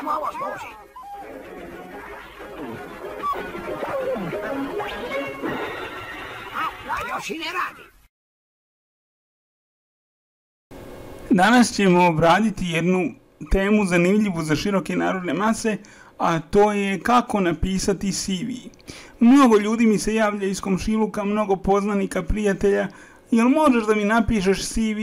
čemu ovo služi? A još i ne radi. Danas ćemo obraditi jednu temu zanimljivu za široke narodne mase, a to je kako napisati CV. Mnogo ljudi mi se javlja iz komšiluka, mnogo poznanika, prijatelja. Jel možeš da mi napišeš CV,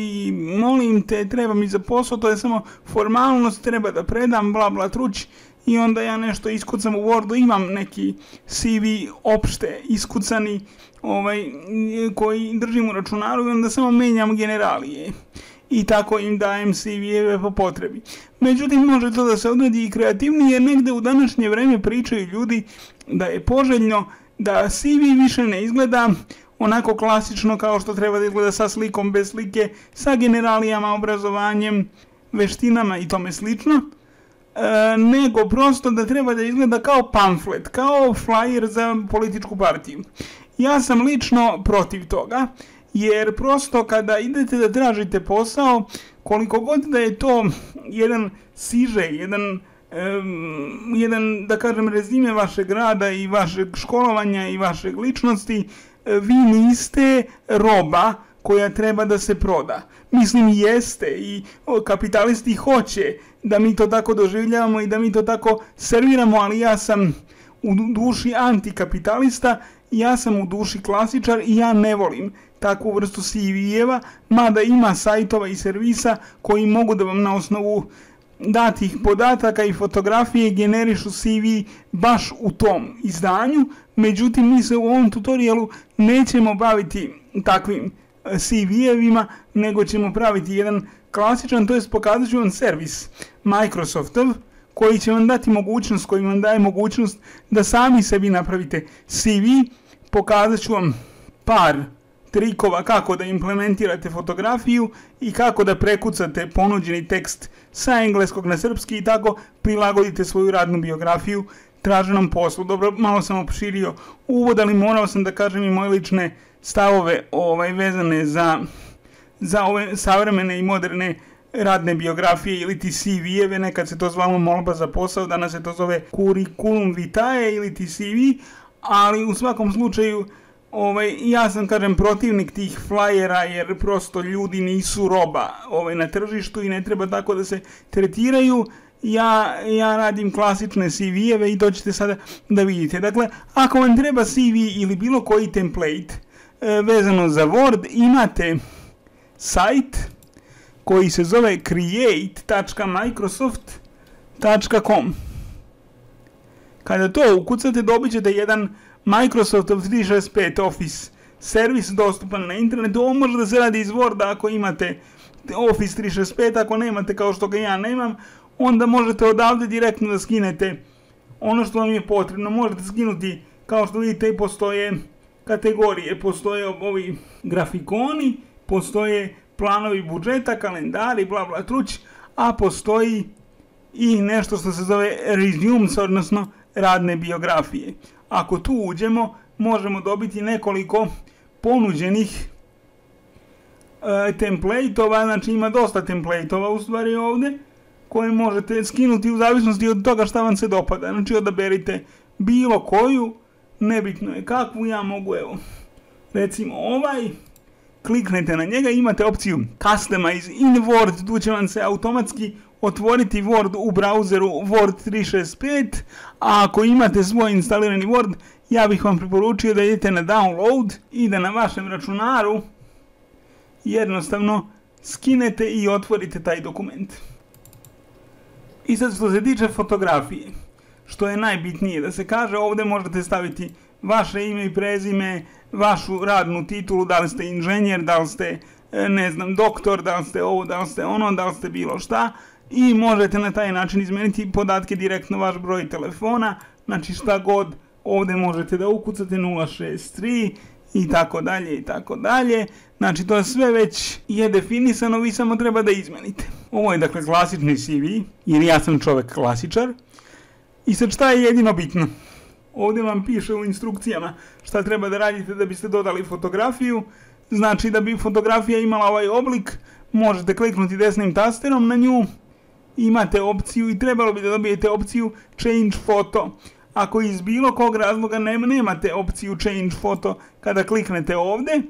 molim te, treba mi za posao, to je samo formalnost, treba da predam, bla bla truć. I onda ja nešto iskucam u Wordu, imam neki CV opšte iskucani koji držim u računaru i onda samo menjam generalije. I tako im dajem CV-eve po potrebi. Međutim, može to da se odredi i kreativnije, jer negde u današnje vreme pričaju ljudi da je poželjno da CV više ne izgleda onako klasično kao što treba da izgleda sa slikom, bez slike, sa generalijama, obrazovanjem, veštinama i tome slično, nego prosto da treba da izgleda kao pamflet, kao flyer za političku partiju. Ja sam lično protiv toga, jer prosto kada idete da tražite posao, koliko god da je to jedan sižej, jedan da kažem rezime vašeg rada i vašeg školovanja i vašeg ličnosti, vi niste roba koja treba da se proda. Mislim, jeste i kapitalisti hoće da mi to tako doživljavamo i da mi to tako serviramo, ali ja sam u duši antikapitalista, ja sam u duši klasičar i ja ne volim takvu vrstu CV-eva, mada ima sajtova i servisa koji mogu da vam na osnovu datih podataka i fotografije generišu CV baš u tom izdanju. Međutim, mi se u ovom tutorialu nećemo baviti takvim CV-evima, nego ćemo praviti jedan klasičan, to jest pokazat ću vam servis Microsoftov, koji će vam dati mogućnost, koji vam daje mogućnost da sami sebi napravite CV. Pokazat ću vam par trikova kako da implementirate fotografiju i kako da prekucate ponuđeni tekst sa engleskog na srpski i tako prilagodite svoju radnu biografiju traženom poslu. Dobro, malo sam opširio uvod, ali morao sam da kažem i moje lične stavove vezane za ove savremene i moderne radne biografije ili ti CV-eve, nekad se to zvalo molba za posao, danas se to zove curriculum vitae ili ti CV, ali u svakom slučaju ja sam, kažem, protivnik tih flajera, jer prosto ljudi nisu roba na tržištu i ne treba tako da se tretiraju. Ja radim klasične CV-eve i to ćete sada da vidite. Dakle, ako vam treba CV ili bilo koji template vezano za Word, imate sajt koji se zove create.microsoft.com. Kada to ukucate, dobit ćete jedan Microsoftov 365 Office servis dostupan na internetu. Ovo može da se radi iz Worda ako imate Office 365, ako nemate kao što ga ja nemam, onda možete odavde direktno da skinete ono što vam je potrebno. Možete skinuti, kao što vidite, postoje kategorije, postoje ovi grafikoni, postoje planovi budžeta, kalendari, bla bla truć, a postoji i nešto što se zove resumes, odnosno radne biografije. Ako tu uđemo, možemo dobiti nekoliko ponuđenih template-ova, znači ima dosta template-ova u stvari ovde, koje možete skinuti u zavisnosti od toga šta vam se dopada. Znači odaberite bilo koju, nebitno je kakvu, ja mogu, evo, recimo kliknete na njega, imate opciju Customize in Word, tu će vam se automatski otvoriti Word u brauzeru Word 365, a ako imate svoj instalirani Word, ja bih vam preporučio da idete na download i da na vašem računaru jednostavno skinete i otvorite taj dokument. I sad što se tiče fotografije, što je najbitnije da se kaže, ovdje možete staviti vaše ime i prezime, vašu radnu titulu, da li ste inženjer, da li ste, ne znam, doktor, da li ste ovo, da li ste ono, da li ste bilo šta, i možete na taj način izmeniti podatke direktno, vaš broj telefona, znači šta god ovdje možete da ukucate 063 i tako dalje i tako dalje. Znači to sve već je definisano, vi samo treba da izmenite. Ovo je dakle klasični CV, jer ja sam čovjek klasičar. I sad šta je jedino bitno? Ovdje vam piše u instrukcijama šta treba da radite da biste dodali fotografiju. Znači da bi fotografija imala ovaj oblik, možete kliknuti desnim tasterom na nju imate opciju i trebalo bi da dobijete opciju Change Photo. Ako iz bilo kog razloga nemate opciju Change Photo kada kliknete ovdje,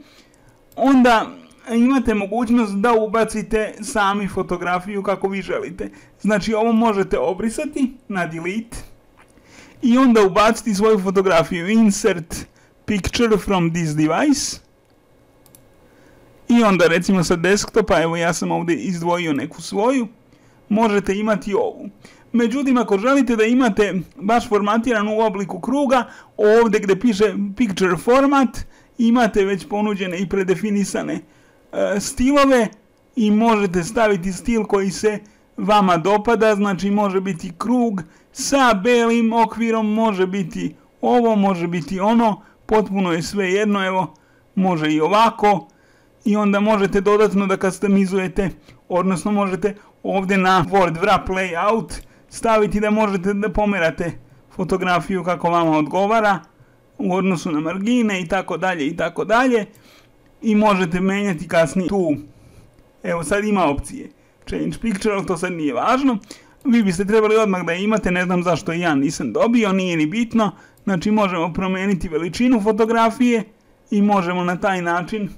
onda imate mogućnost da ubacite sami fotografiju kako vi želite. Znači ovo možete obrisati na delete i onda ubaciti svoju fotografiju. Insert picture from this device. I onda recimo sa desktopa, evo ja sam ovdje izdvojio neku svoju, možete imati ovu. Međutim, ako želite da imate baš formatiran u obliku kruga, ovdje gdje piše picture format, imate već ponuđene i predefinisane stilove i možete staviti stil koji se vama dopada, znači može biti krug sa belim okvirom, može biti ovo, može biti ono, potpuno je sve jedno, evo, može i ovako. I onda možete dodatno da customizujete, odnosno možete ovdje na Word Wrap Layout staviti da možete da pomerate fotografiju kako vama odgovara u odnosu na margine i tako dalje i tako dalje. I možete menjati kasnije tu. Evo sad ima opcije Change Picture, ali to sad nije važno. Vi biste trebali odmah da imate, ne znam zašto ja nisam dobio, nije ni bitno. Znači možemo promijeniti veličinu fotografije i možemo na taj način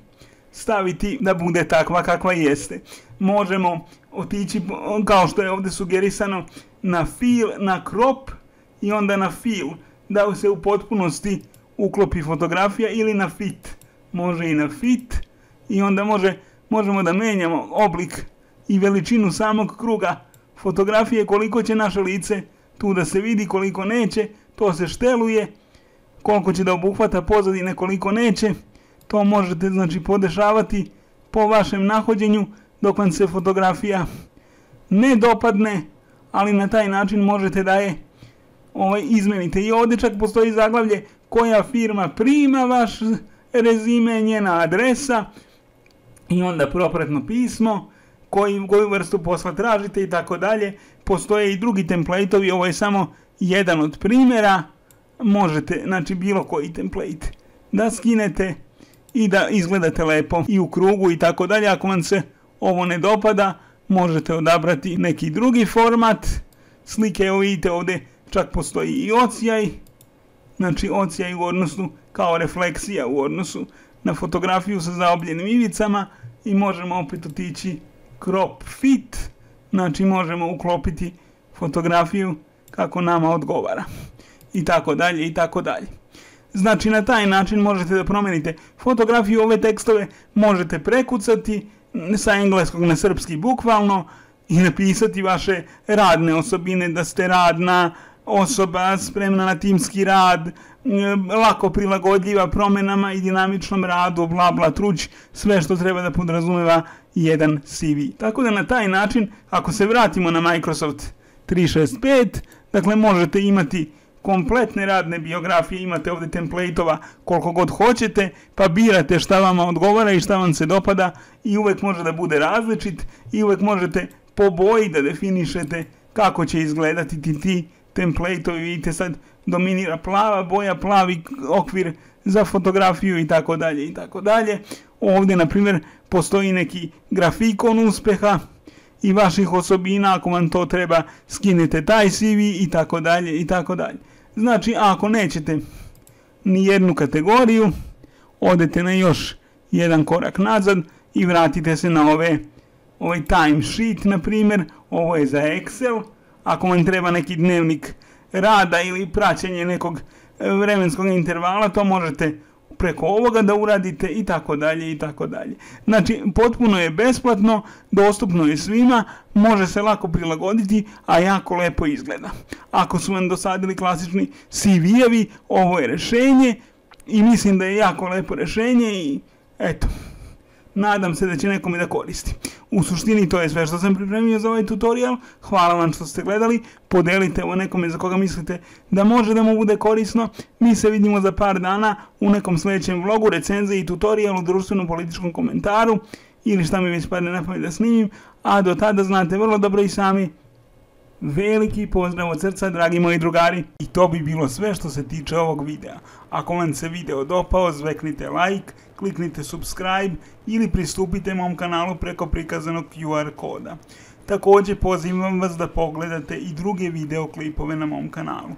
staviti da bude takva kakva jeste. Možemo otići, kao što je ovdje sugerisano, na fill, na crop i onda na fill, da se u potpunosti uklopi fotografija, ili na fit. Može i na fit i onda možemo da menjamo oblik i veličinu samog kruga fotografije, koliko će naše lice tu da se vidi, koliko neće, to se šteluje, koliko će da obuhvata pozadine, koliko neće. To možete znači podešavati po vašem nahođenju dok vam se fotografija ne dopadne, ali na taj način možete da je izmenite. I ovdje čak postoji zaglavlje koja firma prima vaš rezime, njena adresa i onda propratno pismo, koju vrstu posla tražite i tako dalje. Postoje i drugi template-ovi, ovo je samo jedan od primjera. Možete, znači bilo koji template da skinete i da izgledate lepo i u krugu i tako dalje. Ako vam se ovo ne dopada, možete odabrati neki drugi format slike. Evo vidite ovdje čak postoji i ocijaj, znači ocijaj u odnosu kao refleksija u odnosu na fotografiju sa zaobljenim ivicama i možemo opet otići crop fit, znači možemo uklopiti fotografiju kako nama odgovara i tako dalje i tako dalje. Znači na taj način možete da promijenite fotografiju, ove tekstove možete prekucati sa engleskog na srpski bukvalno i napisati vaše radne osobine, da ste radna osoba, spremna na timski rad, lako prilagodljiva promjenama i dinamičnom radu, bla bla truć, sve što treba da podrazumeva jedan CV. Tako da na taj način, ako se vratimo na Microsoft 365, dakle možete imati kompletne radne biografije, imate ovdje template-ova koliko god hoćete, pa birate šta vama odgovara i šta vam se dopada i uvijek može da bude različit i uvijek možete po boji da definišete kako će izgledati ti template-ovi. Vidite sad dominira plava boja, plavi okvir za fotografiju i tako dalje i tako dalje. Ovdje na primjer postoji neki grafikon uspeha i vaših osobina, ako vam to treba skinete taj CV i tako dalje i tako dalje. Znači ako nećete ni jednu kategoriju, odete na još jedan korak nazad i vratite se na ovaj timesheet na primjer, ovo je za Excel. Ako vam treba neki dnevnik rada ili praćenje nekog vremenskog intervala, to možete preko ovoga da uradite i tako dalje i tako dalje. Znači potpuno je besplatno, dostupno je svima, može se lako prilagoditi, a jako lepo izgleda. Ako su vam dosadili klasični CV-evi, ovo je rješenje i mislim da je jako lepo rješenje i eto, nadam se da će nekome da koristi. U suštini to je sve što sam pripremio za ovaj tutorial. Hvala vam što ste gledali. Podelite ovo nekome za koga mislite da može da mu bude korisno. Mi se vidimo za par dana u nekom sljedećem vlogu, recenziji i tutorialu, društvenom političkom komentaru ili šta mi već padne na pamet da snimim. A do tada znate vrlo dobro i sami. Veliki pozdrav od srca, dragi moji drugari. I to bi bilo sve što se tiče ovog videa. Ako vam se video dopao, zveknite like, kliknite subscribe ili pristupite mom kanalu preko prikazanog QR koda. Također pozivam vas da pogledate i druge videoklipove na mom kanalu.